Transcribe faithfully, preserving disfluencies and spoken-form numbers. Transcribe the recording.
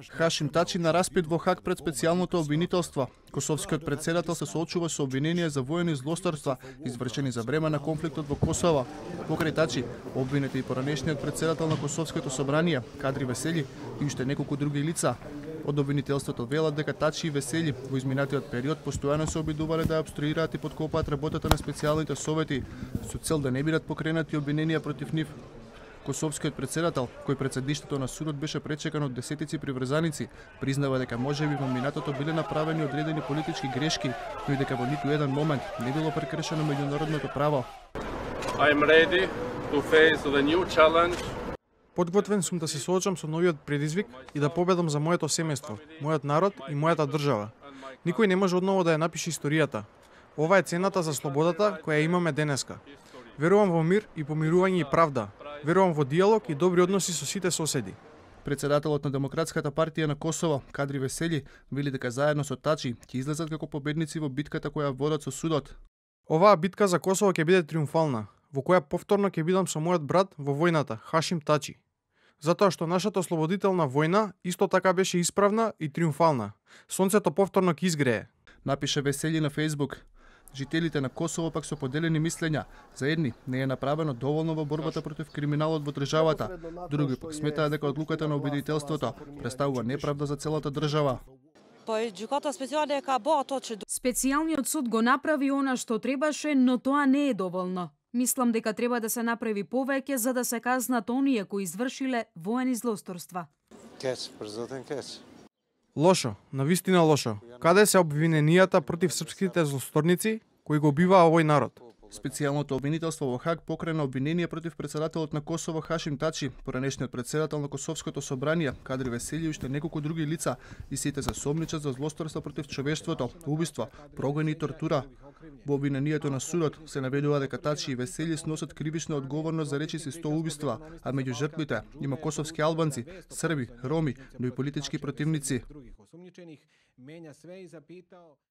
Хашим Тачи на распит во Хаг пред специјалното обвинителство. Косовскиот председател се соочува со обвинение за воени злосторства, извршени за време на конфликтот во Косово. Покрај Тачи, обвинети и поранешниот председател на Косовското собрание, Кадри Весели, и уште неколку други лица. Од обвинителството велат дека Тачи и Весели во изминатиот период постојано се обидувале да ја обструираат и подкопаат работата на специјалните совети со цел да не бидат покренати обвиненија против нив. Косовскиот председател, кој пред седиштето на судот беше пречекан од десетици приврзаници, признава дека можеби во минатото биле направени одредени политички грешки, но и дека во ниту еден момент не било прекршено меѓународното право. I'm ready to face the new challenge. Подготвен сум да се соочам со новиот предизвик и да победам за моето семејство, мојот народ и мојата држава. Никој не може одново да ја напише историјата. Ова е цената за слободата која имаме денеска. Верувам во мир и помирување и правда. Верувам во диалог и добри односи со сите соседи. Председателот на Демократската партија на Косово, Кадри Весели, вели дека заедно со Тачи ќе излезат како победници во битката која водат со судот. Оваа битка за Косово ќе биде триумфална, во која повторно ќе бидам со мојот брат во војната, Хашим Тачи. Затоа што нашата ослободителна војна исто така беше исправна и триумфална. Сонцето повторно ќе изгрее. Напише Весели на Facebook. Жителите на Косово пак со поделени мислења. За едни не е направено доволно во борбата против криминалот во државата, други пак сметаат дека одлуката на обвинителството представува неправда за целата држава. Специјалниот суд го направи она што требаше, но тоа не е доволно. Мислам дека треба да се направи повеќе за да се казнат оние кои извршиле воени злосторства. Лошо, навистина лошо. Каде се обвиненијата против српските злосторници кои го убиваа овој народ? Специјалното обвинителство во Хаг покрена обвинение против председателот на Косово Хашим Тачи, поранешниот председател на Косовското собрание, Кадри Весели и уште неколку други лица, и сите се сомничат за злосторство против човештвото, убиство, прогони и тортура. Во обвинението на судот се наведува дека Тачи и Весели сносат кривична одговорност за речиси сто убиства, а меѓу жртвите има косовски албанци, срби, роми, но и политички противници.